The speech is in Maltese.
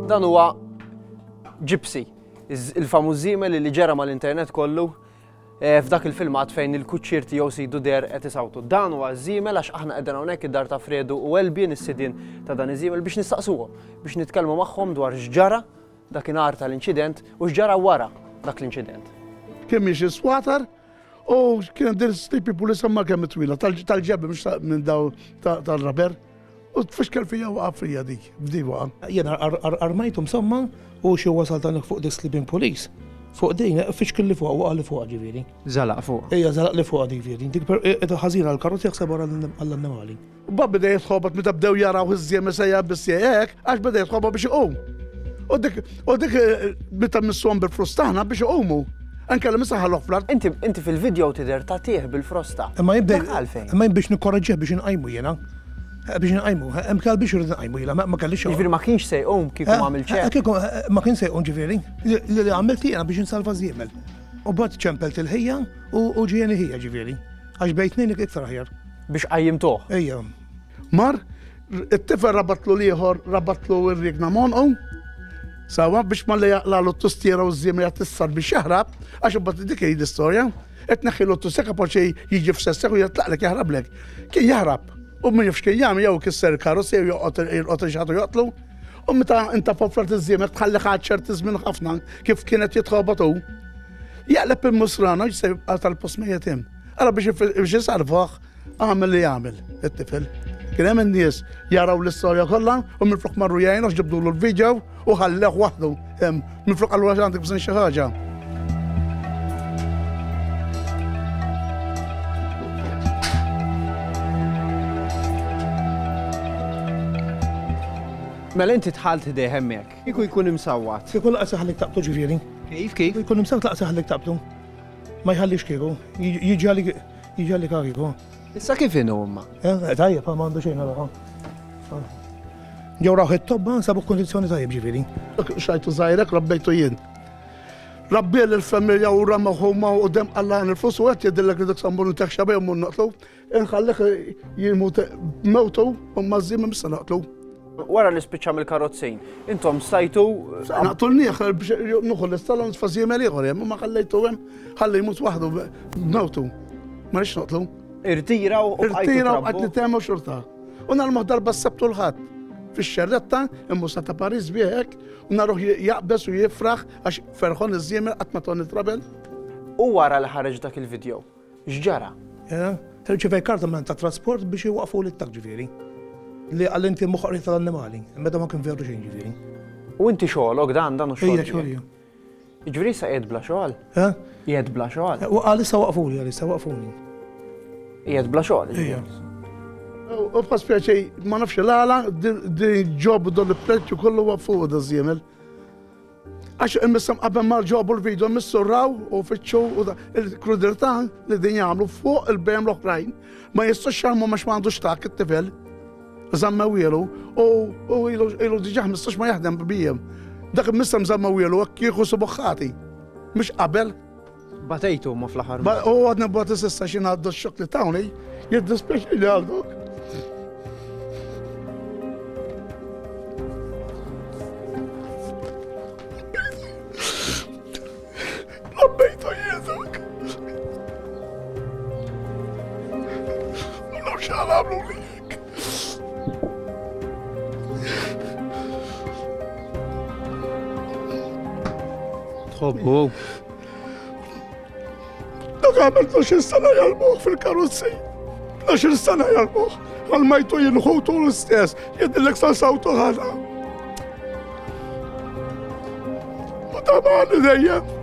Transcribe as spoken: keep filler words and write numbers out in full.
Dan huwa Gypsy, il-famuż żiemel li ġera mal-internet kollu f'dak il-filmat fejn il-kuċċier tiegħu sidu der qed isawtu. Dan huwa żiemel għax aħna qegħdin hawnhekk id-dar ta' Fredu u Elbien is-sidien ta' dan iż-żiemel biex nistaqsuhom, biex nitkellmu magħhom dwar x'ġara dakinhar tal-inċident u x'ġara wara dak l-inċident. Kien miexi swatar u kien din sleepy police ma kemm twila tal-ġebel mhux minn daw tal-raber. U tfixkel fija waqa' fija dik, f'di waqa'. Jiena armajtu insomma u xi wasal tan fuq di sleeping police. Fuq din, fixkel li fuq, waqa' li fuq ġifieri. Żalaq fuq. Ejja, żalaq li fuq ġifieri. Dik ħażina l-karozzi jaħseb wara għall-annimali. U bab beda jitħobat meta bdew jaraw iż-żiemel sejja biss hekk, għax beda jitħobat biex iqum. U dik u dik meta missuhom bil-frustaħna biex iqumu. Anke li misaħħalhom fl-art. Inti inti fil-video tidher tagħtih bil-frosta. Imma jibda imma biex nikkoraġġih biex inqajmu jiena. Biex nqajmu, hemm kell biex irid nqajmu jiena, ma kellix. Jiġifieri ma kienx se jqum kieku ma għamilx hekk. Kieku ma kienx se jqum ġifieri. Li għamilt jiena biex insalva żiemel. U bad ċempelt il-ħija u ġieni ħija ġifieri. Għax bejt tnejn iktar aħjar. Biex qajjimtuh. Ejja. Mar, it-tifel rabatlu l-ieħor, rabatlu r-rigna monqu. Sawa biex ma li jaqlalu t-tustiera u ż-żiemel jgħat biex jaħrab, għax imbagħad dik hi l-istorja. Qed neħħilu t-tustiera kapaċi jiġi f'sessek u jitlaqlek jaħrablek. Kien jaħrab. U min jafx kien jagħmel jew kisser il-karozza jew joqgħod jirqod xi ħadd joqtlu. U meta inta fofrat iż-żiemel tħalli ħadd ċerti żmien ħafna kif kienet jitħobat hu. Jaqleb il-musrana se jibqa' tal-post mejjet hemm. Ara biex isalvah għamel li jagħmel it-tifel. Kien hemm in-nies jaraw l-istorja kollha u minflok marru jgħinu ġibdulu l-video u ħalleh waħdu hemm minflok qallu għax għandek bżonn xi ħaġa. Mela inti dħalt ħdejh hemmhekk. Kieku jkun imsawwat. Kieku laqas iħallik taqbtu ġifieri. Kif kif? Jkun imsawwat laqas iħallik taqbtu. Ma jħallix kieku. Jiġi għalik jiġi għalik kieku. Issa kif inhu huma? Tajjeb, ma għandu xejn għalha. Ġew rawh it-tobba sabu kundizzjoni tajjeb ġifieri. Xajtu żgħirek rabbejtu jien. Rabbiel il-familja u ramaħu ma u dem qallan il-flus u qed jidillek li dik sambun teħxa bejhom u noqtlu. Inħallih jimut mewtu u ma żżiem mista noqtlu. Wara li spiċċa mill-karozzin, intom stajtu. Naqtulnieh biex nuħu l-istalla nitfa' żiemel ieħor hemm, ma ħallejtu hemm, ħalli jmut waħdu b'mewtu. Ma rridx noqtlu. Irtira u Irtira u qed nitehmu xorta. U nagħmlu darba s-Sebt u l-Ħadd fix-xerretta imma ta' Paris bih hekk u naruh jaqbeż u jifraħ għax ferħon iż-żiemel qatt ma toni trabel. U wara li ħareġ dak il-video, x'ġara? Irċivej karta minn ta' trasport biex iwaqfu lit-tak ġifieri. Li għal inti moħqri tal-annimali, meta ma kien veru xejn ġifieri. U inti xogħolok dan dan u xogħol. Ejja xogħol. Jiġifieri issa qiegħed bla xogħol? Qiegħed bla xogħol? U għalissa waqfuni, għalissa waqfuni. Qiegħed bla xogħol. Ejja. U bħas pjaċej, ma nafx l-għala, din ġobu dol il-preċċu kollu waqfu da żiemel. Għax imissam qabel ma ġobu l-video missurraw u fitxu u il-krudeltà li din jagħmlu fuq il-bejjem l-oħrajn. Ma jistax jagħmlu għax ma għandux tak it-tifel. Żammewielu u ilu diġà ħmistax ma jaħdem bijjem. Dak imissam żammewielu hekk kieku subuħħati. Mhux qabel. Batejtu ma fl-aħħar. U għadna bati s'issa xi ngħaddu x-xokk li tawni, jiddispjaċini għal dok. Rabbejtu jien dok. Ma nafx għal għamlu li. Tħobbu. Dak għamel tnax-il sena jalbuh fil-karozzi. Tnax-il sena jalbuh. Għal-majtu jinħutu l-istess. Jidillek sa sawtu ħana. U tamani dejjem.